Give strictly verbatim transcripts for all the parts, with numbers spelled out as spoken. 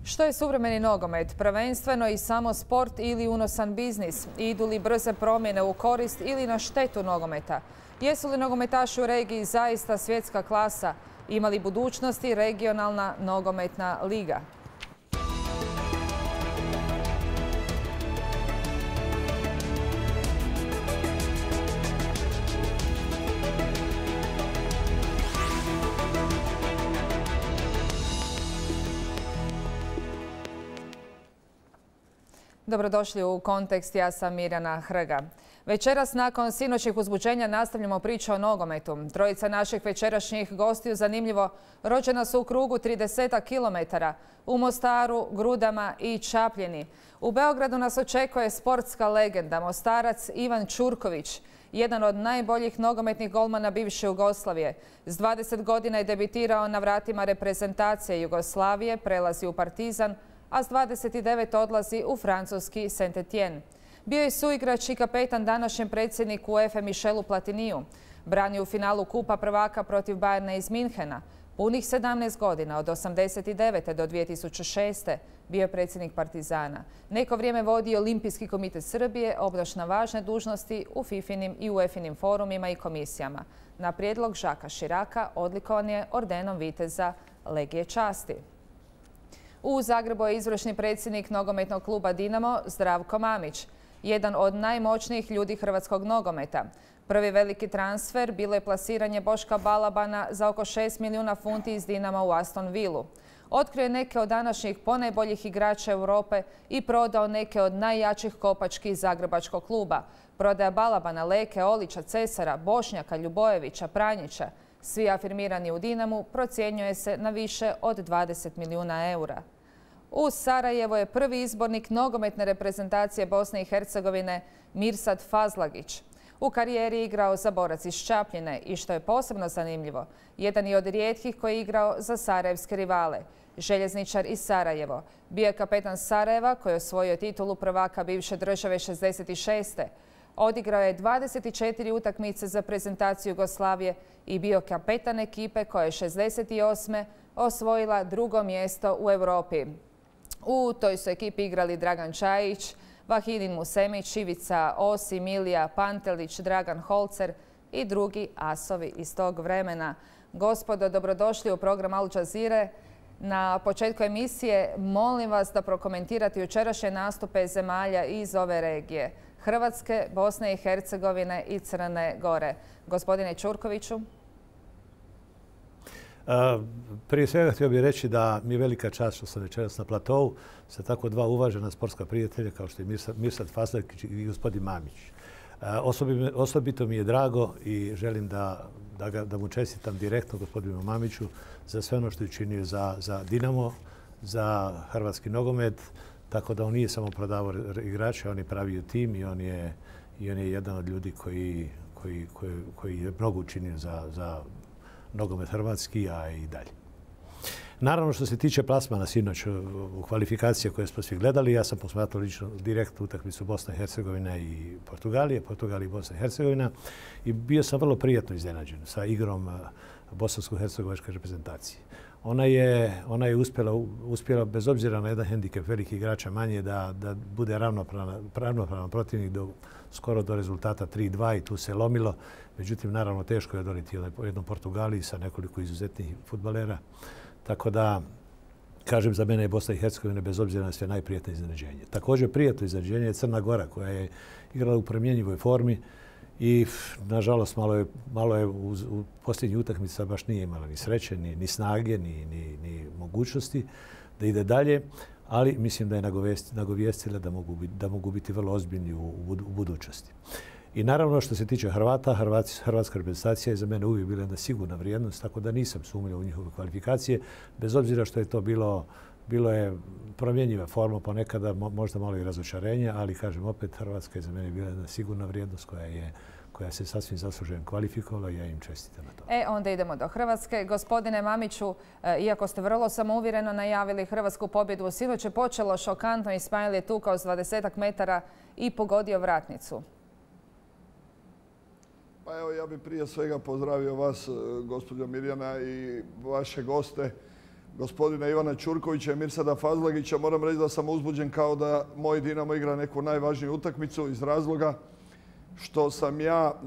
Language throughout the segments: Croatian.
Što je suvremeni nogomet? Prvenstveno i samo sport ili unosan biznis? Idu li brze promjene u korist ili na štetu nogometa? Jesu li nogometaši u regiji zaista svjetska klasa? Ima li budućnosti regionalna nogometna liga? Dobrodošli u Kontekst, ja sam Mirjana Hrga. Večeras nakon sinoćnih uzbuđenja nastavljamo priču o nogometu. Trojica naših večerašnjih gostiju, zanimljivo, rođena su u krugu trideset kilometara, u Mostaru, Grudama i Čapljini. U Beogradu nas očekuje sportska legenda, Mostarac Ivan Ćurković, jedan od najboljih nogometnih golmana bivše Jugoslavije. S dvadeset godina je debitirao na vratima reprezentacije Jugoslavije, prelazi u Partizan, a s dvadeset devet odlazi u francuski Saint-Étienne. Bio je suigrač i kapetan današnjem predsjedniku UEFA Michelu Platiniju. Branio u finalu Kupa prvaka protiv Bayerna iz Minhena. Punih sedamnaest godina, od osamdeset devete do dvije tisuće šeste. bio je predsjednik Partizana. Neko vrijeme vodio Olimpijski komitet Srbije, obnaša važne dužnosti u fifinim i uefinim forumima i komisijama. Na prijedlog Žaka Širaka odlikovan je ordenom viteza Legije časti. U Zagrebu je izvršni predsjednik nogometnog kluba Dinamo Zdravko Mamić, jedan od najmoćnijih ljudi hrvatskog nogometa. Prvi veliki transfer bilo je plasiranje Boška Balabana za oko šest milijuna funti iz Dinama u Aston Villu. Otkrio je neke od današnjih ponajboljih igrača Europe i prodao neke od najjačih kopački zagrebačkog kluba. Prodaja Balabana, Leke, Olića, Cesara, Bošnjaka, Ljubojevića, Pranjića, svi afirmirani u Dinamu, procjenjuje se na više od dvadeset milijuna eura. U Sarajevo je prvi izbornik nogometne reprezentacije Bosne i Hercegovine Mirsad Fazlagić. U karijeri igrao za Borac iz Čapljine i, što je posebno zanimljivo, jedan je od rijetkih koji je igrao za sarajevske rivale. Željezničar iz Sarajevo. Bio je kapetan Sarajeva koji je osvojio titulu prvaka bivše države šezdeset šeste. Odigrao je dvadeset četiri utakmice za prezentaciju Jugoslavije i bio kapetan ekipe koja je šezdeset osme osvojila drugo mjesto u Europi. U toj su ekipi igrali Dragan Čajić, Vahidin Musemić, Ivica Osi, Milija Pantelić, Dragan Holcer i drugi asovi iz tog vremena. Gospodo, dobrodošli u program Al Jazeere. Na početku emisije molim vas da prokomentirate jučerašnje nastupe zemalja iz ove regije. Hrvatske, Bosne i Hercegovine i Crne Gore. Gospodine Ćurkoviću. Prije svega htio bih reći da mi je velika čast što sam večeras na platovu sa tako dva uvažena sportska prijatelja kao što je Mirsad Fazlagić i gospodin Mamić. Osobito mi je drago i želim da, da, ga, da mu čestitam direktno gospodinu Mamiću za sve ono što je učinio za, za Dinamo, za hrvatski nogomet, tako da on nije samo prodavao igrače, on je pravio tim i on je, i on je jedan od ljudi koji, koji, koji, koji je mnogo učinio za, za nogomet hrvatski, a i dalje. Naravno, što se tiče plasmana sinoć u kvalifikacije koje smo svi gledali, ja sam posmatrao lično direktnu utakmicu Bosna i Hercegovina i Portugalije, Portugalija i Bosna i Hercegovina, i bio sam vrlo prijatno iznenađen sa igrom bosansko-hercegovačke reprezentacije. Ona je, ona je uspjela, uspjela, bez obzira na jedan hendikep velikih igrača manje, da, da bude ravnopravan, ravnopravan protivnik do, skoro do rezultata tri dva i tu se lomilo. Međutim, naravno, teško je donijeti jednom Portugaliji sa nekoliko izuzetnih fudbalera. Tako da, kažem, za mene je Bosna i Hercegovina bez obzira na sve najprijatnije iznenađenje. Također prijatno iznenađenje je Crna Gora koja je igrala u promjenjivoj formi i, nažalost, malo je, malo je u, u posljednjih utakmica baš nije imala ni sreće, ni, ni snage, ni, ni, ni mogućnosti da ide dalje, ali mislim da je nagovijestila da mogu biti, da mogu biti vrlo ozbiljni u, u budućnosti. I naravno, što se tiče Hrvata, Hrvati, hrvatska reprezentacija je za mene uvijek bila jedna sigurna vrijednost, tako da nisam sumnjao u njihove kvalifikacije, bez obzira što je to bilo, bilo je promjenjiva forma, ponekada možda malo i razočarenje, ali kažem opet, Hrvatska je za mene bila jedna sigurna vrijednost koja je koja se sasvim zasluženo kvalifikovala i ja im čestitam na to. E, onda idemo do Hrvatske. Gospodine Mamiću, iako ste vrlo samouvjereno najavili hrvatsku pobjedu, sinoć je počelo šokantno. Ismail je tukao s dvadesetak metara i pogodio vratnicu. Pa evo, ja bih prije svega pozdravio vas, gospođo Mirjana, i vaše goste. gospodina Ivana Ćurkovića i Mirsada Fazlagića, moram reći da sam uzbuđen kao da moj Dinamo igra neku najvažniju utakmicu iz razloga što sam ja e,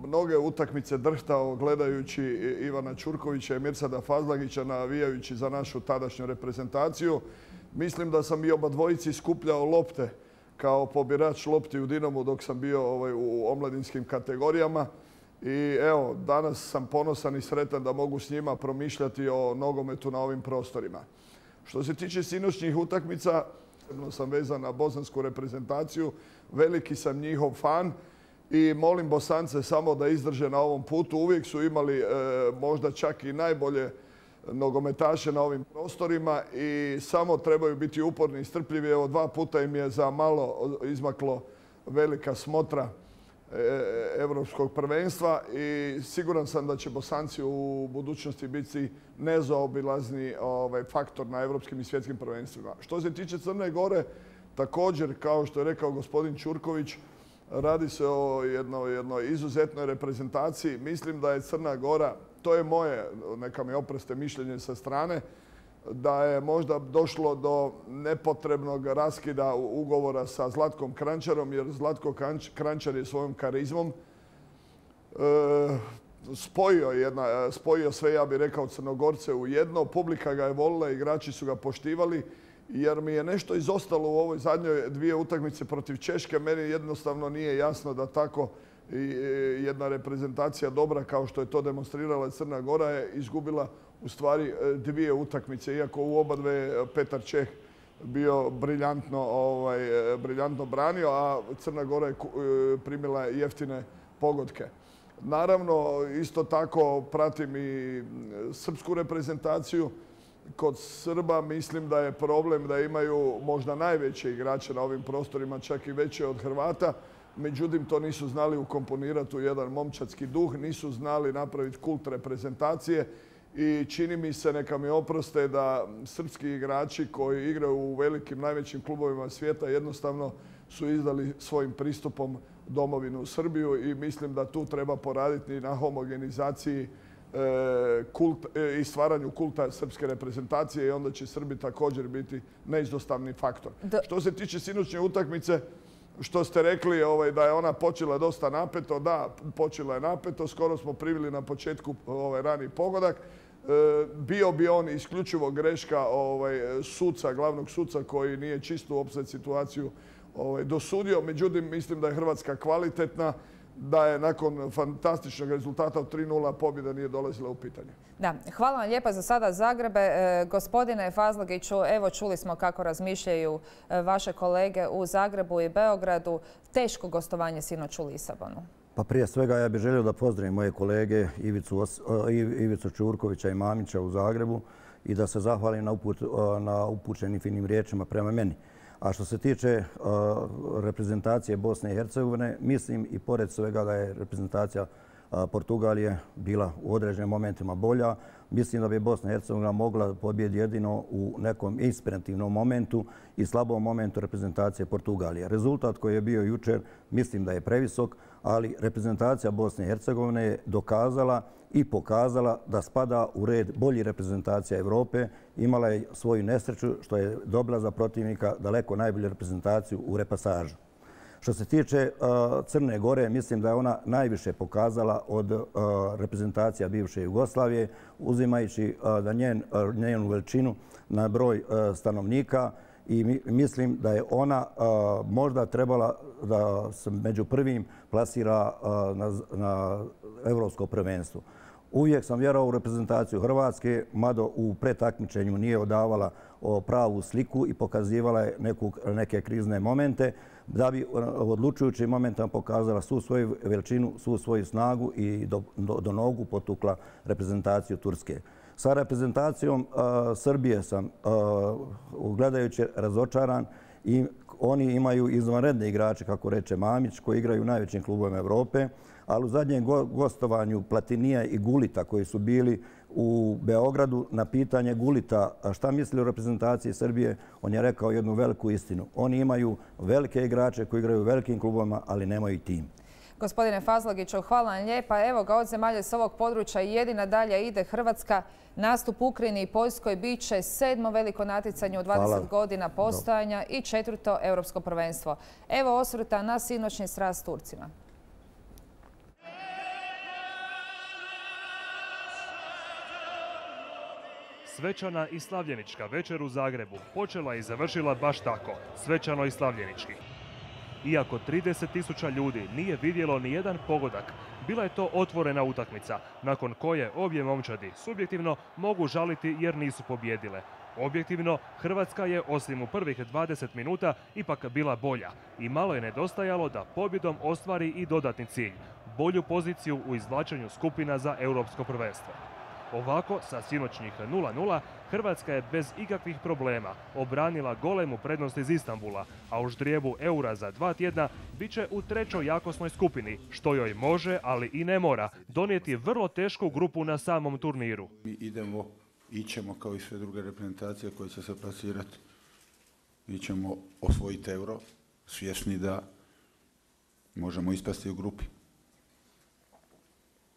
mnoge utakmice drhtao gledajući Ivana Ćurkovića i Mirsada Fazlagića navijajući za našu tadašnju reprezentaciju. Mislim da sam i oba dvojici skupljao lopte kao pobirač lopti u Dinamu dok sam bio ovaj, u omladinskim kategorijama. I evo, danas sam ponosan i sretan da mogu s njima promišljati o nogometu na ovim prostorima. Što se tiče sinoćnjih utakmica, sam vezan na bosansku reprezentaciju, veliki sam njihov fan i molim Bosance samo da izdrže na ovom putu. Uvijek su imali e, možda čak i najbolje nogometaše na ovim prostorima i samo trebaju biti uporni i strpljivi. Evo, dva puta im je za malo izmaklo velika smotra Evropskog prvenstva i siguran sam da će Bosanci u budućnosti biti nezaobilazni ovaj, faktor na evropskim i svjetskim prvenstvima. Što se tiče Crne Gore, također, kao što je rekao gospodin Ćurković, radi se o jednoj, jednoj izuzetnoj reprezentaciji. Mislim da je Crna Gora, to je moje, neka mi oproste mišljenje sa strane, da je možda došlo do nepotrebnog raskida ugovora sa Zlatkom Kranjčarom, jer Zlatko Kranjčar je svojom karizmom e, spojio, jedna, spojio sve, ja bih rekao, Crnogorce u jedno. Publika ga je volila, igrači su ga poštivali, jer mi je nešto izostalo u ovoj zadnjoj dvije utakmice protiv Češke. Meni jednostavno nije jasno da tako jedna reprezentacija dobra kao što je to demonstrirala Crna Gora je izgubila u stvari dvije utakmice, iako u oba dve Petar Čeh bio briljantno, ovaj, briljantno branio, a Crna Gora je primila jeftine pogodke. Naravno, isto tako pratim i srpsku reprezentaciju. Kod Srba mislim da je problem da imaju možda najveće igrače na ovim prostorima, čak i veće od Hrvata. Međutim, to nisu znali ukomponirati u jedan momčadski duh, nisu znali napraviti kult reprezentacije i čini mi se, neka mi oproste, da srpski igrači koji igraju u velikim, najvećim klubovima svijeta jednostavno su izdali svojim pristupom domovinu Srbiju i mislim da tu treba poraditi na homogenizaciji kult, i stvaranju kulta srpske reprezentacije i onda će Srbi također biti neizostavni faktor. Da. Što se tiče sinoćnje utakmice, što ste rekli ovaj, da je ona počela dosta napeto, da, počela je napeto, skoro smo privili na početku ovaj, rani pogodak. E, bio bi on isključivo greška ovaj, suca, glavnog suca koji nije čistu opsad situaciju ovaj, dosudio. Međutim, mislim da je Hrvatska kvalitetna, da je nakon fantastičnog rezultata od tri nula pobjeda nije dolazila u pitanje. Da, hvala vam lijepa za sada Zagrebe. E, gospodine Fazlagiću, evo čuli smo kako razmišljaju e, vaše kolege u Zagrebu i Beogradu. Teško gostovanje sinoć u Lisabonu. Pa prije svega ja bih želio da pozdravim moje kolege Ivicu, Ivicu Ćurkovića i Mamića u Zagrebu i da se zahvalim na, uput, na upućenim finim riječima prema meni. A što se tiče uh, reprezentacije Bosne i Hercegovine, mislim i pored svega da je reprezentacija uh, Portugalije bila u određenim momentima bolja. Mislim da bi Bosna i Hercegovina mogla pobjediti jedino u nekom inspirativnom momentu i slabom momentu reprezentacije Portugalije. Rezultat koji je bio jučer mislim da je previsok, ali reprezentacija Bosne i Hercegovine je dokazala i pokazala da spada u red boljih reprezentacija Evrope. Imala je svoju nesreću što je dobila za protivnika daleko najbolju reprezentaciju u repasažu. Što se tiče uh, Crne Gore, mislim da je ona najviše pokazala od uh, reprezentacija bivše Jugoslavije, uzimajući uh, da njen, uh, njenu veličinu na broj uh, stanovnika i mi, mislim da je ona uh, možda trebala da se među prvim plasira uh, na, na evropsko prvenstvo. Uvijek sam vjerovao u reprezentaciju Hrvatske, mada u pretakmičenju nije odavala pravu sliku i pokazivala je neku, neke krizne momente, da bi odlučujućim momentima pokazala svu svoju veličinu, svu svoju snagu i do, do, do nogu potukla reprezentaciju Turske. Sa reprezentacijom uh, Srbije sam uh, gledajući razočaran i oni imaju izvanredne igrače, kako reče Mamić, koji igraju u najvećim klubovima Evrope, ali u zadnjem gostovanju Platinija i Gulita koji su bili u Beogradu na pitanje Gulita šta misli o reprezentaciji Srbije, on je rekao jednu veliku istinu. Oni imaju velike igrače koji igraju u velikim klubovima, ali nemaju tim. Gospodine Fazlagiću, hvala vam lijepa. Evo ga, od zemalja s ovog područja jedina dalje ide Hrvatska. Nastup Ukrajini i Poljskoj bit će sedmo veliko natjecanje u dvadeset godina postojanja i četvrto europsko prvenstvo. Evo osvrta na sinoćni sraz s Turcima. Svečana i slavljenička večer u Zagrebu počela i završila baš tako, svečano i slavljenički. Iako trideset tisuća ljudi nije vidjelo ni jedan pogodak, bila je to otvorena utakmica, nakon koje obje momčadi subjektivno mogu žaliti jer nisu pobjedile. Objektivno, Hrvatska je osim u prvih dvadeset minuta ipak bila bolja i malo je nedostajalo da pobjedom ostvari i dodatni cilj, bolju poziciju u izvlačenju skupina za europsko prvenstvo. Ovako, sa sinoćnjih nula nula, Hrvatska je bez ikakvih problema obranila golemu prednost iz Istanbula, a u ždrijebu eura za dva tjedna bit će u trećoj jakosnoj skupini, što joj može, ali i ne mora, donijeti vrlo tešku grupu na samom turniru. Mi idemo, ićemo kao i sve druge reprezentacije koje će se plasirati. Mi ćemo osvojiti euro, svjesni da možemo ispasti u grupi.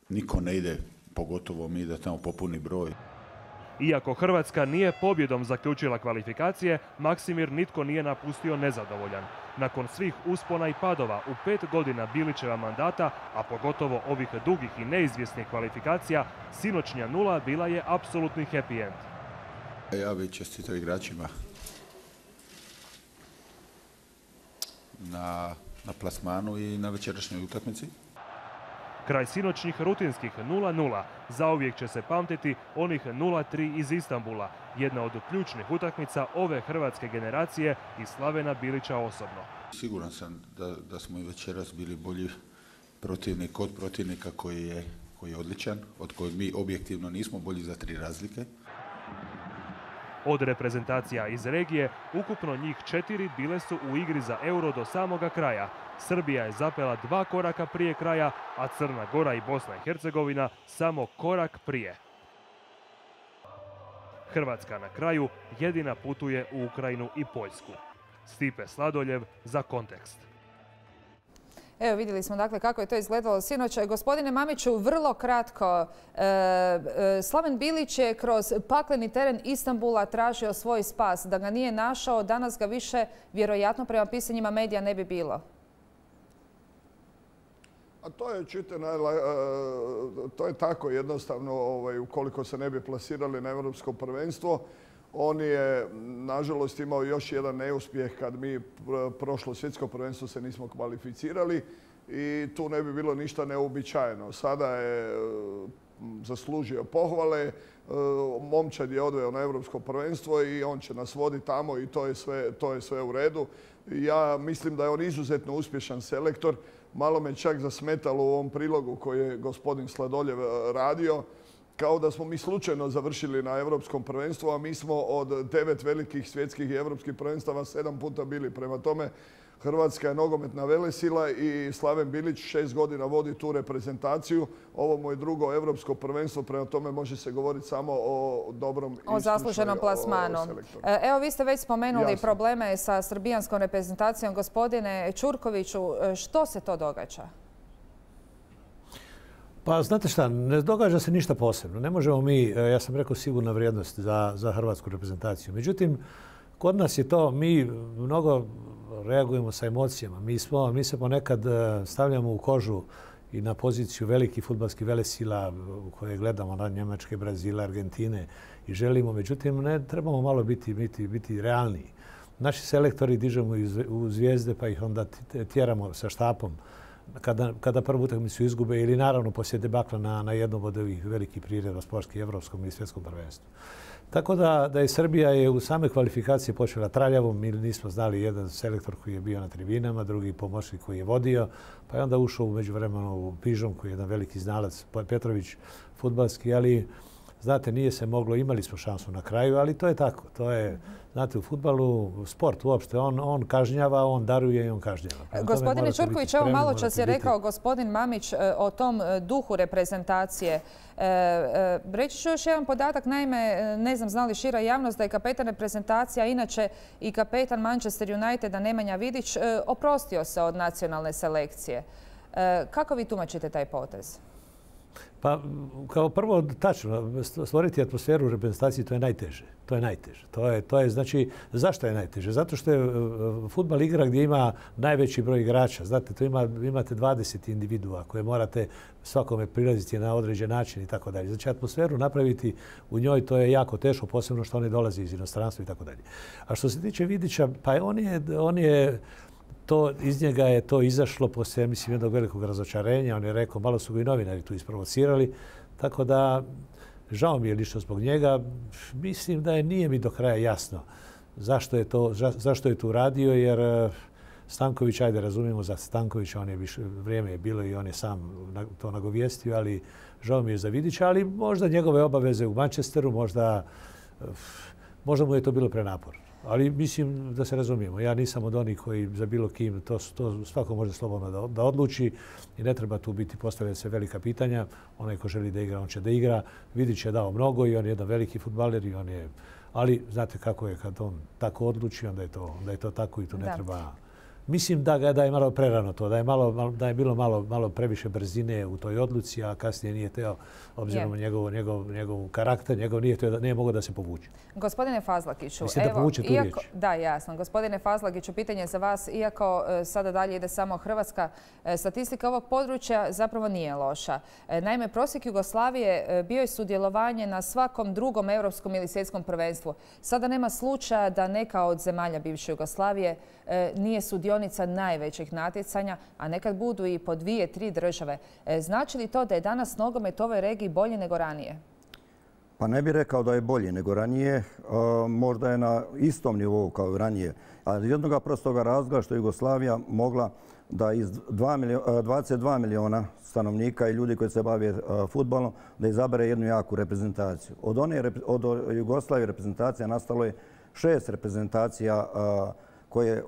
Niko ne ide, pogotovo mi, da tamo popuni broj. Iako Hrvatska nije pobjedom zaključila kvalifikacije, Maksimir nitko nije napustio nezadovoljan. Nakon svih uspona i padova u pet godina Bilićeva mandata, a pogotovo ovih dugih i neizvjesnih kvalifikacija, sinoćnja nula bila je apsolutni happy end. Ja bih čestitao igračima na, na plasmanu i na večerašnjoj utakmici. Kraj sinoćnih rutinskih nula nula zauvijek će se pamtiti onih nula tri iz Istanbula, jedna od ključnih utakmica ove hrvatske generacije i Slavena Bilića osobno. Siguran sam da, da smo i večeras bili bolji protivnik od protivnika koji je, koji je odličan, od kojeg mi objektivno nismo bolji za tri razlike. Od reprezentacija iz regije, ukupno njih četiri bile su u igri za euro do samoga kraja. Srbija je zapela dva koraka prije kraja, a Crna Gora i Bosna i Hercegovina samo korak prije. Hrvatska na kraju jedina putuje u Ukrajinu i Poljsku. Stipe Sladoljev za Kontekst. Evo, vidjeli smo dakle kako je to izgledalo sinoć. Gospodine Mamiću, vrlo kratko, e, e, Slaven Bilić je kroz pakleni teren Istanbula tražio svoj spas. Da ga nije našao, danas ga više vjerojatno prema pisanjima medija ne bi bilo. A to je, čujte, to je tako jednostavno, ovaj, ukoliko se ne bi plasirali na europsko prvenstvo. On je, nažalost, imao još jedan neuspjeh kad mi prošlo svjetsko prvenstvo se nismo kvalificirali i tu ne bi bilo ništa neuobičajeno. Sada je zaslužio pohvale, momčad je odveo na europsko prvenstvo i on će nas voditi tamo i to je sve, to je sve u redu. Ja mislim da je on izuzetno uspješan selektor. Malo me čak zasmetalo u ovom prilogu koji je gospodin Sladoljev radio, kao da smo mi slučajno završili na europskom prvenstvu, a mi smo od devet velikih svjetskih i europskih prvenstava sedam puta bili. Prema tome, Hrvatska je nogometna velesila i Slaven Bilić šest godina vodi tu reprezentaciju. Ovo mu je drugo europsko prvenstvo, prema tome može se govoriti samo o dobrom o zasluženom plasmanu. Evo, vi ste već spomenuli Jasno. probleme sa srbijanskom reprezentacijom. Gospodine Ćurkoviću, što se to događa? Pa znate šta, ne događa se ništa posebno. Ne možemo mi, ja sam rekao, sigurna vrijednost za, za hrvatsku reprezentaciju. Međutim, kod nas je to, mi mnogo reagujemo sa emocijama. Mi, smo, mi se ponekad stavljamo u kožu i na poziciju velikih fudbalskih velesila u koje gledamo na Njemačke, Brazila, Argentine i želimo. Međutim, ne trebamo malo biti, biti, biti realniji. Naši selektori dižemo u zvijezde pa ih onda tjeramo sa štapom kada, kada prvu utakmicu izgube ili naravno poslije debakla na, na jednom od ovih velikih priredba sportskih, evropskom i svjetskom prvenstvu. Tako da, da je Srbija je u same kvalifikacije počela traljavo. Mi nismo znali jedan selektor koji je bio na tribinama, drugi pomoćnik koji je vodio, pa je onda ušao u međuvremenu u Pižon koji je jedan veliki znalac, Petrović, fudbalski, ali znate, nije se moglo, imali smo šansu na kraju, ali to je tako. To je, znate, u fudbalu, sport uopšte, on, on kažnjava, on daruje i on kažnjava. Prema Gospodine Ćurković, evo malo čas je rekao gospodin Mamić o tom duhu reprezentacije. E, e, reći ću još jedan podatak, naime, ne znam zna li šira javnost da je kapetan reprezentacija, inače i kapetan Manchester Uniteda Nemanja Vidić, e, oprostio se od nacionalne selekcije. Kako vi tumačite taj potez? Pa, kao prvo, tačno, stvoriti atmosferu u reprezentaciji, to je najteže. To je najteže. To je, to je, znači, zašto je najteže? Zato što je fudbal igra gdje ima najveći broj igrača. Znate, tu ima, imate dvadeset individua koje morate svakome prilaziti na određen način i tako dalje. Znači, atmosferu napraviti u njoj, to je jako teško, posebno što oni dolaze iz inostranstva i tako dalje. A što se tiče Vidića, pa on je, on je To, iz njega je to izašlo poslije, mislim, jednog velikog razočarenja. On je rekao, malo su ga i novinari tu isprovocirali. Tako da, žao mi je lično zbog njega. Mislim da je, nije mi do kraja jasno zašto je to, zašto je to uradio, jer Stanković, ajde, razumijemo za Stankovića, on je više, vrijeme je bilo i on je sam to nagovijestio, ali žao mi je za Vidića, ali možda njegove obaveze u Manchesteru, možda, možda mu je to bilo prenaporno. Ali mislim da se razumijemo. Ja nisam od onih koji za bilo kim, to, to svako može slobodno da, da odluči i ne treba tu biti postavljati se velika pitanja. Onaj ko želi da igra, on će da igra. Vidić je dao mnogo i on je jedan veliki fudbaler i on je... Ali znate kako je kad on tako odluči, onda je to, onda je to tako i tu ne da. treba... Mislim da, ga, da je malo prerano to, da je, malo, da je bilo malo, malo previše brzine u toj odluci, a kasnije nije teo, obzirom na njegov, njegov, njegov karakter, njegov nije, teo, nije mogao da se povuče. Gospodine Fazlakiću, Mislim da povuče tu iako, da, jasno. Gospodine Fazlakiću, pitanje za vas, iako e, sada dalje ide samo Hrvatska, e, statistika ovog područja zapravo nije loša. E, naime, prosjek Jugoslavije e, bio je sudjelovanje na svakom drugom europskom ili svjetskom prvenstvu. Sada nema slučaja da neka od zemalja bivše Jugoslavije e, nije sudionica najvećih natjecanja, a nekad budu i po dvije, tri države. E, znači li to da je danas nogomet u ovoj regiji bolji nego ranije? Pa ne bih rekao da je bolje nego ranije. Možda je na istom nivou kao i ranije. Ali jednog prostoga razloga što je Jugoslavija mogla da iz dvadeset dva miliona stanovnika i ljudi koji se bave fudbalom da izabere jednu jaku reprezentaciju. Od, one, od Jugoslavije reprezentacija nastalo je šest reprezentacija koje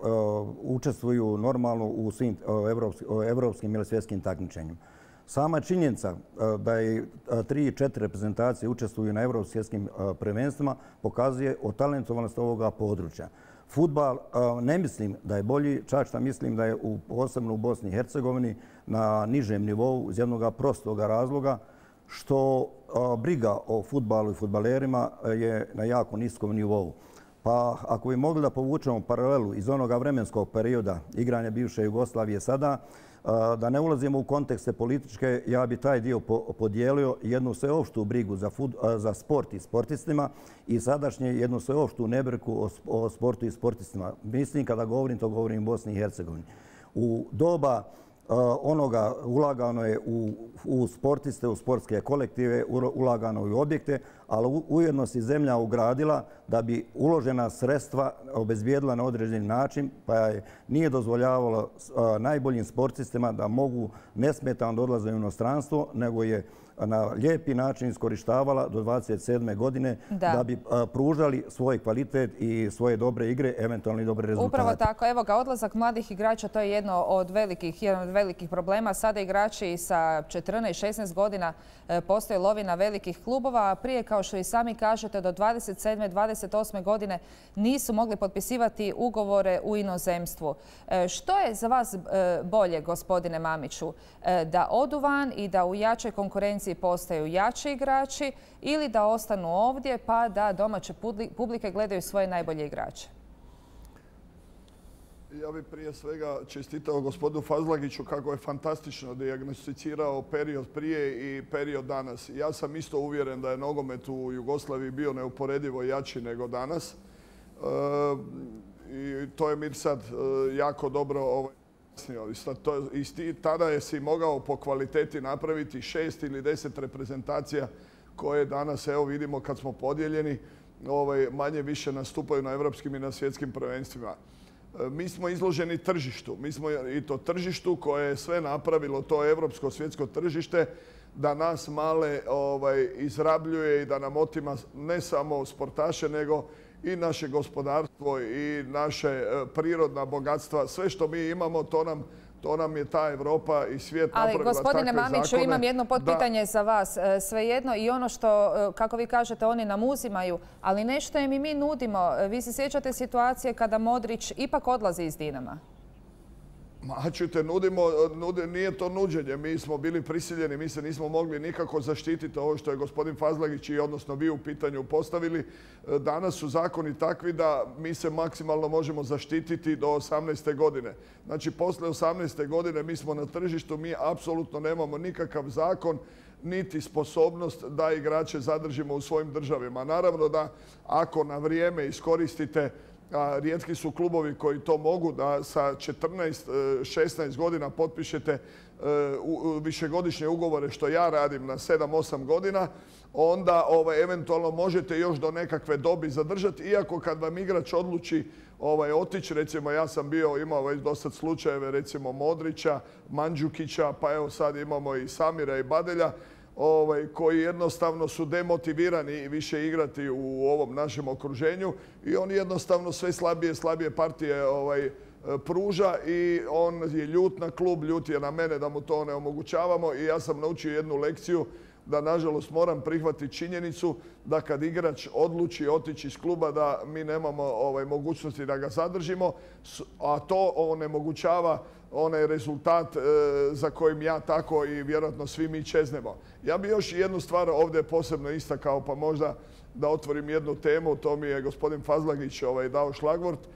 učestvuju normalno u svim evropskim ili svjetskim takmičenjima. Sama činjenica da je tri, četiri reprezentacije učestvuju na evropskim prvenstvima pokazuje o talentovanosti ovoga područja. Fudbal ne mislim da je bolji, čak što mislim da je u, posebno u Bosni i Hercegovini na nižem nivou iz jednog prostog razloga što briga o fudbalu i fudbalerima je na jako niskom nivou. Pa ako bi mogli da povučemo paralelu iz onoga vremenskog perioda igranja bivše Jugoslavije sada, da ne ulazimo u kontekste političke, ja bi taj dio podijelio jednu sveopštu brigu za, fud, za sport i sportistima i sadašnje jednu sveopštu nebrigu o, o sportu i sportistima. Mislim kada govorim, to govorim u Bosni i Hercegovini. U doba onoga ulagano je u, u sportiste, u sportske kolektive, ulagano i u objekte, ali ujedno se zemlja ugradila da bi uložena sredstva obezbijedila na određeni način, pa je nije dozvoljavalo najboljim sportistima da mogu nesmetano da odlaze u inostranstvo, nego je na lijepi način iskorištavala do dvadeset sedme godine da, da bi pružali svoj kvalitet i svoje dobre igre, eventualno i dobre rezultate. Upravo tako. Evo ga, odlazak mladih igrača, to je jedno od velikih, jedan od velikih problema. Sada igrači sa četrnaest šesnaest godina postoje lovina velikih klubova, a prije, kao što i sami kažete, do dvadeset sedme dvadeset osme godine nisu mogli potpisivati ugovore u inozemstvu. Što je za vas bolje, gospodine Mamiću, da odu van i da u jačoj konkurenciji postaju jači igrači ili da ostanu ovdje pa da domaće publike gledaju svoje najbolje igrače? Ja bih prije svega čestitao gospodinu Fazlagiću kako je fantastično dijagnosticirao period prije i period danas. Ja sam isto uvjeren da je nogomet u Jugoslaviji bio neuporedivo jači nego danas. E, I to je Mirsad jako dobro ovaj, i tada je si mogao po kvaliteti napraviti šest ili deset reprezentacija koje danas, evo vidimo kad smo podijeljeni, ovaj, manje više nastupaju na evropskim i na svjetskim prvenstvima. Mi smo izloženi tržištu. Mi smo i to tržištu koje je sve napravilo, to evropsko svjetsko tržište, da nas male ovaj, izrabljuje i da nam otima ne samo sportaše, nego i naše gospodarstvo i naše prirodna bogatstva. Sve što mi imamo, to nam, to nam je ta Evropa i svijet napravila takve zakone. Ali, gospodine Mamiću, imam jedno potpitanje da... za vas. Svejedno i ono što, kako vi kažete, oni nam uzimaju, ali nešto im i mi nudimo. Vi se sjećate situacije kada Modrić ipak odlazi iz Dinama? Ma čujte, nudimo, nude, nije to nuđenje, mi smo bili prisiljeni, mi se nismo mogli nikako zaštititi ovo što je gospodin Fazlagić i odnosno vi u pitanju postavili. Danas su zakoni takvi da mi se maksimalno možemo zaštititi do osamnaeste godine. Znači, posle osamnaeste godine mi smo na tržištu, mi apsolutno nemamo nikakav zakon niti sposobnost da igrače zadržimo u svojim državima. Naravno da ako na vrijeme iskoristite, a rijetki su klubovi koji to mogu, da sa četrnaest šesnaest godina potpišete višegodišnje ugovore, što ja radim na sedam osam godina, onda ovaj, eventualno možete još do nekakve dobi zadržati, iako kad vam igrač odluči ovaj, otići, recimo ja sam bio, imao već dosad slučajeve, recimo Modrića, Mandžukića, pa evo sad imamo i Samira i Badelja, Ovaj, koji jednostavno su demotivirani više igrati u ovom našem okruženju i on jednostavno sve slabije slabije partije ovaj, pruža i on je ljut na klub, ljut je na mene da mu to ne omogućavamo i ja sam naučio jednu lekciju da nažalost moram prihvatiti činjenicu da kad igrač odluči otići iz kluba da mi nemamo ovaj, mogućnosti da ga zadržimo, a to onemogućava onaj rezultat e, za kojim ja tako i vjerojatno svi mi čeznemo. Ja bih još jednu stvar ovdje posebno istakao, pa možda da otvorim jednu temu, to mi je gospodin Fazlagić ovaj, dao šlagvort. E,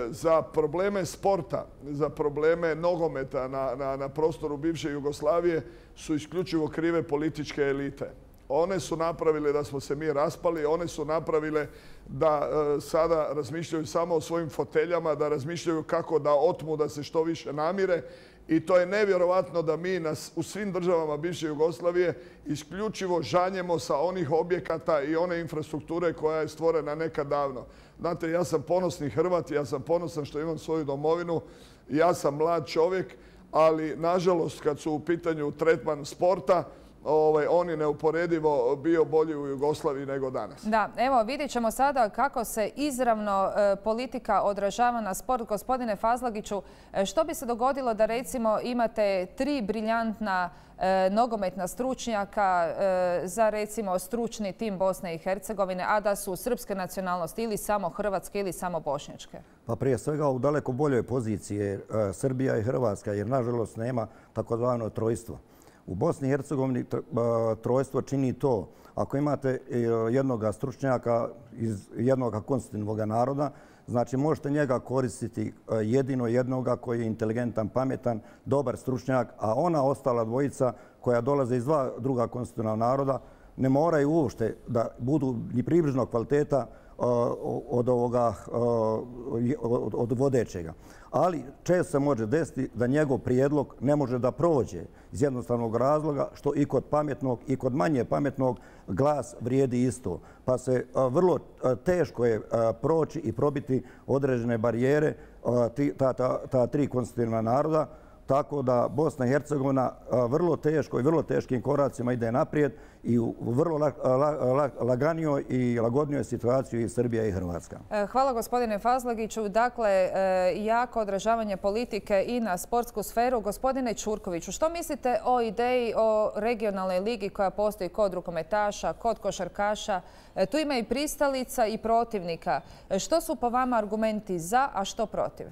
za probleme sporta, za probleme nogometa na, na, na prostoru bivše Jugoslavije su isključivo krive političke elite. One su napravile da smo se mi raspali, one su napravile da e, sada razmišljaju samo o svojim foteljama, da razmišljaju kako da otmu, da se što više namire. I to je nevjerovatno da mi nas, u svim državama bivše Jugoslavije isključivo žanjemo sa onih objekata i one infrastrukture koja je stvorena nekad davno. Znate, ja sam ponosni Hrvat, ja sam ponosan što imam svoju domovinu, ja sam mlad čovjek, ali nažalost kad su u pitanju tretman sporta, Ovaj, on je neuporedivo bio bolji u Jugoslaviji nego danas. Da, evo vidjet ćemo sada kako se izravno e, politika odražava na sport. Gospodine Fazlagiću, e, što bi se dogodilo da recimo imate tri briljantna e, nogometna stručnjaka e, za recimo stručni tim Bosne i Hercegovine, a da su srpske nacionalnosti ili samo hrvatske ili samo bošnjačke? Pa prije svega u daleko boljoj poziciji je e, Srbija i Hrvatska, jer nažalost nema takozvano trojstvo. U Bosni i Hercegovini trojstvo čini to. Ako imate jednog stručnjaka iz jednog konstitutivnog naroda, znači možete njega koristiti jedino jednoga koji je inteligentan, pametan, dobar stručnjak, a ona ostala dvojica koja dolaze iz dva druga konstitutivna naroda ne moraju uopšte da budu ni približno kvaliteta od ovoga, od vodećega. Ali često se može desiti da njegov prijedlog ne može da prođe iz jednostavnog razloga što i kod pametnog i kod manje pametnog glas vrijedi isto. Pa se vrlo teško je proći i probiti određene barijere ta, ta, ta tri konstitutivna naroda. Tako da Bosna i Hercegovina vrlo teško i vrlo teškim koracima ide naprijed i u vrlo laganijoj i lagodnijoj situaciji i Srbija i Hrvatska. Hvala gospodine Fazlagiću. Dakle, jako odražavanje politike i na sportsku sferu. Gospodine Ćurkoviću, što mislite o ideji o regionalnoj ligi koja postoji kod rukometaša, kod košarkaša? Tu ima i pristalica i protivnika. Što su po vama argumenti za, a što protiv?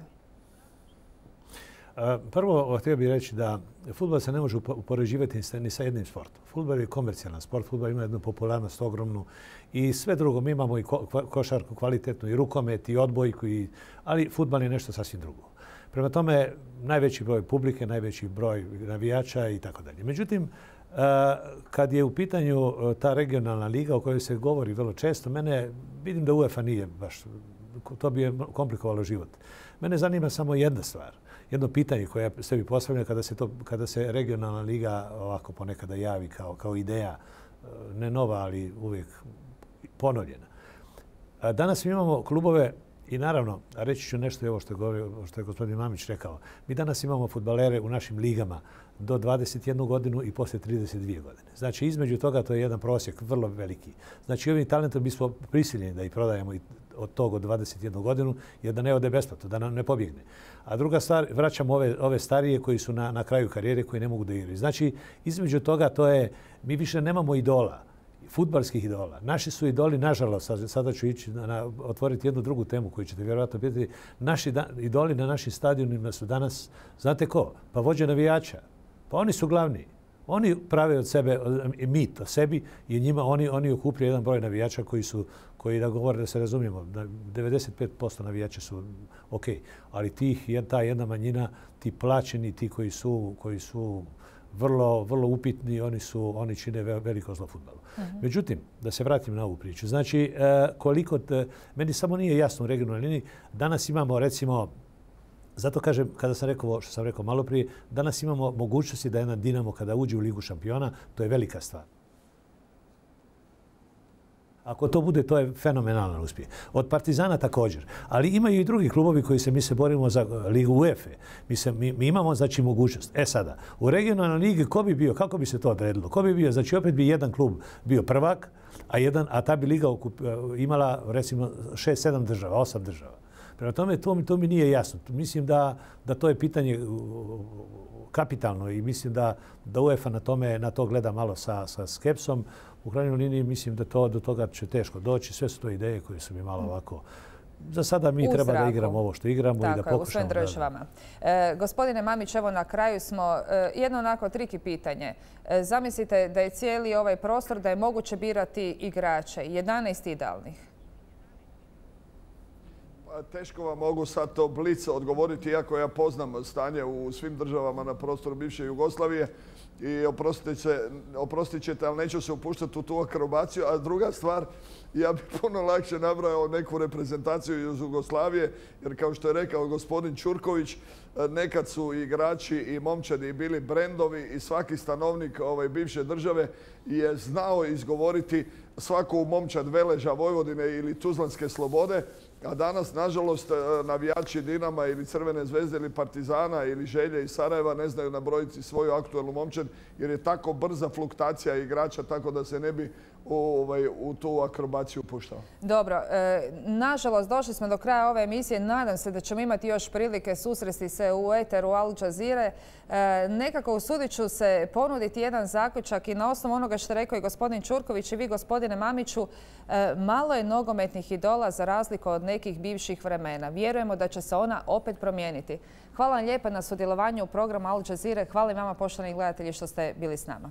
Prvo, htio bih reći da fudbal se ne može upoređivati ni sa jednim sportom. Fudbal je komercijalan sport, fudbal ima jednu popularnost ogromnu i sve drugo. Mi imamo i košarku kvalitetnu, i rukomet, i odbojku, i... ali fudbal je nešto sasvim drugo. Prema tome, najveći broj publike, najveći broj navijača i tako dalje. Međutim, kad je u pitanju ta regionalna liga o kojoj se govori vrlo često, mene vidim da UEFA nije baš, to bi je komplikovalo život. Mene zanima samo jedna stvar. Jedno pitanje koje se bi postavljeno kada se, to, kada se regionalna liga ovako ponekada javi kao, kao ideja, ne nova, ali uvijek ponovljena. Danas mi imamo klubove i naravno, reći ću nešto i ovo što je, govorio, što je gospodin Mamić rekao. Mi danas imamo fudbalere u našim ligama do dvadeset jednu godinu i poslije trideset dvije godine. Znači, između toga to je jedan prosjek vrlo veliki. Znači, ovim talentom mi smo prisiljeni da ih prodajemo od tog od dvadeset jednu godinu, jer da ne ode besplatno, da nam ne pobjegne. A druga stvar, vraćamo ove, ove starije koji su na, na kraju karijere, koji ne mogu da igraju. Znači, između toga to je, mi više nemamo idola. fudbalskih idola. Naši su idoli, nažalost, sada ću ići na, otvoriti jednu drugu temu koju ćete vjerojatno pitati. Naši da, idoli na našim stadionima su danas, znate ko? Pa vođe navijača. Pa oni su glavni. Oni prave od sebe mit o sebi i njima oni, oni okupljaju jedan broj navijača koji su, koji da govore da se razumijemo, devedeset pet posto navijača su ok, ali tih, ta jedna manjina, ti plaćeni, ti koji su, koji su vrlo, vrlo upitni, oni su, oni čine veliko zlo fudbalu. Uh-huh. Međutim, da se vratim na ovu priču. Znači, koliko, te, meni samo nije jasno u regionalnoj liniji, danas imamo recimo, zato kažem, kada sam rekao što sam rekao malo prije, danas imamo mogućnosti da jedan Dinamo kada uđe u Ligu šampiona, to je velika stvar. Ako to bude, to je fenomenalan uspjeh. Od Partizana također. Ali imaju i drugi klubovi koji se, mi se borimo za Ligu UEFA. Mi, se, mi, mi imamo, znači, mogućnost. E sada, u regionalnoj ligi ko bi bio, kako bi se to odredilo? Ko bi bio, znači, opet bi jedan klub bio prvak, a, jedan, a ta bi liga okup, imala, recimo, šest, sedam država, osam država. Prema tome, to mi, to mi nije jasno. Mislim da, da to je pitanje kapitalno i mislim da, da UEFA na, tome, na to gleda malo sa, sa skepsom. U krajnjoj liniji mislim da to, do toga će teško doći. Sve su to ideje koje su mi malo ovako... Za sada mi u treba zraku. Da igramo ovo što igramo tako, i da pokušamo... Tako, u svojim državama. E, gospodine Mamić, evo na kraju smo e, jedno onako triki pitanje. E, zamislite da je cijeli ovaj prostor da je moguće birati igrače. jedanaest idealnih. Teško vam mogu sad to blic odgovoriti, iako ja poznam stanje u svim državama na prostoru bivše Jugoslavije i oprostit ćete, ali neću se upuštati u tu akrobaciju. A druga stvar, ja bih puno lakše nabrao neku reprezentaciju iz Jugoslavije, jer kao što je rekao gospodin Ćurković, nekad su igrači i momčadi bili brendovi i svaki stanovnik ove bivše države je znao izgovoriti svaku momčad Veleža, Vojvodine ili Tuzlanske Slobode, a danas, nažalost, navijači Dinama ili Crvene zvezde ili Partizana ili Želje iz Sarajeva ne znaju nabrojiti svoju aktualnu momčad jer je tako brza fluktacija igrača, tako da se ne bi u, ovaj, u tu akrobaciju puštao. Dobro, e, nažalost, došli smo do kraja ove emisije. Nadam se da ćemo imati još prilike susresti se u eteru Al Jazeere. E, nekako usudit ću se ponuditi jedan zaključak i na osnovu onoga što je rekao i gospodin Ćurković i vi, gospodine Mamiću, e, malo je nogometnih idola za razliku od nekih bivših vremena. Vjerujemo da će se ona opet promijeniti. Hvala vam lijepa na sudjelovanju u programu Al Jazeere. Hvala i vama, poštovani gledatelji, što ste bili s nama.